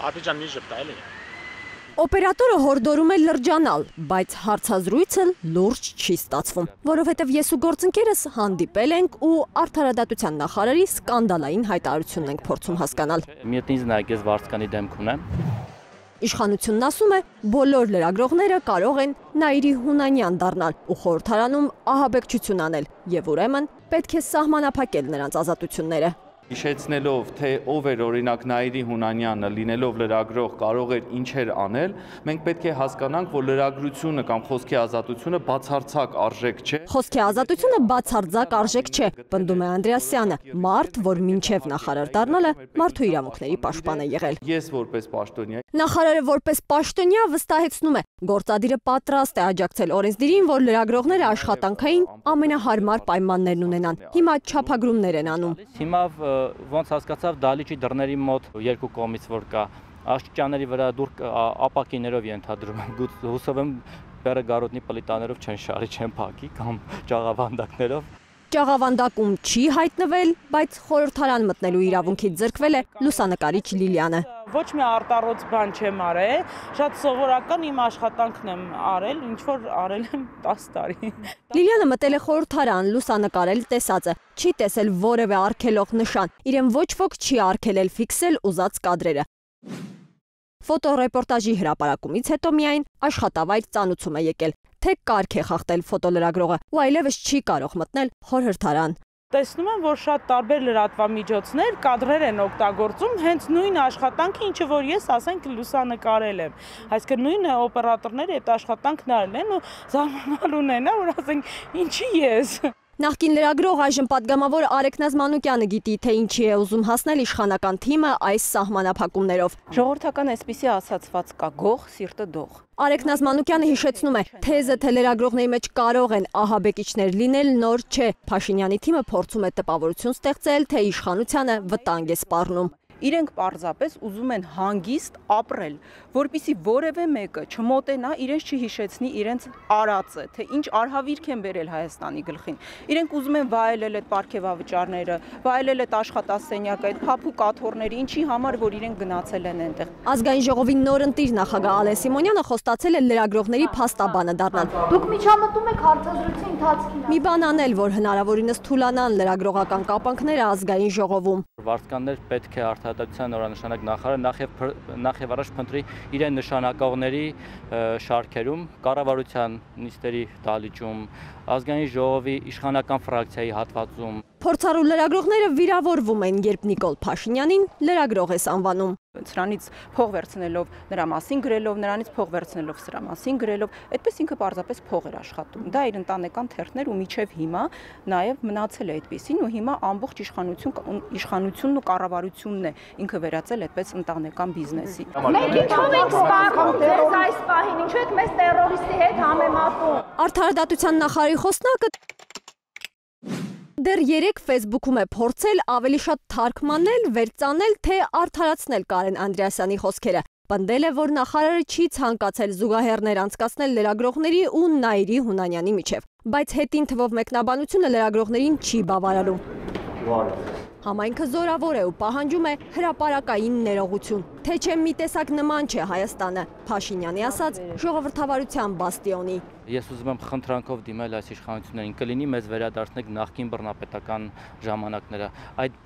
Ադրբեջան մի ժպտա էլի։ Օպերատորը հորդորում է լրջանալ, բայց հարցազրույցը լուրջ չի ստացվում, որովհետև ես ու գործընկերս հանդիպել ենք ու արդարադատության նախարարի սկանդալային հայտարարությունն ենք փորձում հասկանալ։ Միետնիզնայգես վարձկանի դեմք ունեմ։ Իշխանությունն ասում է, բոլոր լրագրողները կարող են Նաիրի Հունանյան դառնալ ու խորհրդարանում ահաբեկչություն անել, եւ ուրեմն պետք է սահմանափակել նրանց ազատությունները։ Հիշեցնելով, թե ով էր օրինակ Նաիրի Հունանյանը, լինելով լրագրող, կարող էր ինչեր անել, մենք պետք է հասկանանք, որ լրագրությունը կամ խոսքի ազատությունը բացարձակ արժեք չէ։ Խոսքի ազատությունը բացարձակ արժեք չէ, պնդում է Անդրեասյանը, մարդ, որ մինչև նախարար դառնալը մարդու իրավունքների պաշտպան է եղել։ Ես որպես պաշտոնյա։ Նախարարը որպես պաշտոնյա վստահեցնում է, գործադիրը պատրաստ է աջակցել օրենսդիրին, որ լրագրողները աշխատանքային ամենահարմար պայմաններն ունենան։ Հիմա չափագրումներ են անում։ Հիմա ոնց հասկացավ դալիճի դռների մոտ երկու կողմից որ կա աշճանների վրա դուր ապակիներով ենթադրում եմ հուսով եմ բերը գարոտնի պլիտաներով չեն շարի չեն փակի կամ ճաղավանդակներով։ Ճաղավանդակում չի հայտնվել, բայց խորհրդարան մտնելու իրավունքից զրկվել է լուսանկարիչ Լիլիանը։ Ոչ մի արտառոց բան չեմ արել, շատ սովորական իմ աշխատանքն եմ արել, ինչ որ արել եմ 10 տարի։ Լիլիանը մտել է խորհրդարան լուսանկարել տեսածը, չի տեսել որևէ արգելող նշան, իրեն ոչ ոք չի արգելել ֆիքսել ուզած կադրերը։ Ֆոտոռեպորտաժի հրապարակումից հետո միայն աշխատավայր ծանուցում է եկել, թե կարգ է խախտել ֆոտոլրագրողը ու այլևս չի կարող մտնել խորհրդարան։ Տեսնում եմ, որ շատ տարբեր լրատվամիջոցներ կադրեր են օգտագործում հենց նույն աշխատանքը, ինչը որ ես ասենք լուսանկարել եմ։ Այսինքն նույն օպերատորները այդ աշխատանքն արել են ու զարմանալու են, որ ասենք ինչի ես։ Նախկին լրագրող այժմ պատգամավոր Արեգ Նազմանուկյանը գիտի, թե ինչի է ուզում հասնել իշխանական թիմը այս սահմանափակումներով։ Ժողովրդական այսպիսի ասացված կա՝ գող, սիրտը դող։ Արեգ Նազմանուկյանը հիշեցնում է, թեզը, թե լրագրողների մեջ կարող են ահաբեկիչներ լինել, նոր չէ։ Փաշինյանի թիմը փորձում է տպավորություն ստեղծել, թե իշխանությանը վտանգ է սպառնում։ Իրենք պարզապես ուզում են հանգիստ ապրել, որպեսզի որևէ մեկը չմոտենա, իրենց չհիշեցնի իրենց արածը, թե ինչ արհավիրք են բերել Հայաստանի գլխին։ Իրենք ուզում են վայելել այդ պարգևավճարները, վայելել այդ աշխատասենյակը, այդ փափուկ աթոռները, ինչի համար որ իրենք գնացել են այնտեղ։ Ազգային ժողովի նոր ընտիր նախագահ Ալեն Սիմոնյանը խոստացել է լրագրողների փաստաբանը դառնալ։ Դուք միջամտում եք հարցազրույցի ընթացքին։ Մի բան անել, որ հնարավորինս թուլանան լրագրողական կապանքները ազգային ժողովում։ Վարձկաններ պետք է արդարադատության օրանշանակ նախարարը նախ եւ առաջ փնտրի իրեն նշանակողների շարքերում, կառավարության նիստերի դալիճում, ազգային ժողովի իշխանական ֆրակցիայի հատվածում։ Փորձառու լրագրողները վիրավորվում են, երբ Նիկոլ Փաշինյանին լրագրող ես անվանում։ Սրանից փող վերցնելով նրա մասին գրելով, նրանից փող վերցնելով սրա մասին գրելով, այդպես ինքը պարզապես փող էր աշխատում։ Դա իր ընտանեկան թերթներ ու միջև հիմա նաև մնացել է այդպեսին ու հիմա ամբողջ իշխանությունն ու կառավարությունն է ինքը վերածել այդպես ընտանեկան բիզնեսի։ Մենք ինչով ենք սպառնում ձեզ այս պահին, ինչու եք մեզ տերորիստի հետ համեմատում։ Արդարադատության նախարարի խոսնակը դեռ 3 Facebook-ում է փորձել ավելի շատ թարգմանել, վերծանել, թե արդարացնել Կարեն Անդրեասյանի խոսքերը։ Պնդել է, որ նախարարը չի ցանկացել զուգահեռներ անցկացնել լրագրողների ու Նաիրի Հունանյանի միջև, բայց հետին թվով մեկնաբանությունը լրագրողներին չի բավարարում։ Համայնքը զորավոր է ու պահանջում է հրապարակային ներողություն, թե չէ մի տեսակ նման չէ Հայաստանը, Փաշինյանի ասած ժողովրդավարության բաստիոնի։ Ես ուզում եմ խնդրանքով դիմել այս իշխանություններին, կլինի մեզ վերադարձնեք նախկին բռնապետական ժամանակները։ Այդ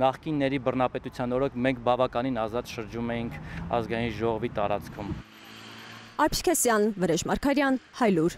նախկինների բռնապետության օրոք մենք բավականին ազատ շրջում էինք ազգային ժողովի տարածքում։ Արփիշ Քեսյան, Վրեժ Մարգարյան, Հայլուր։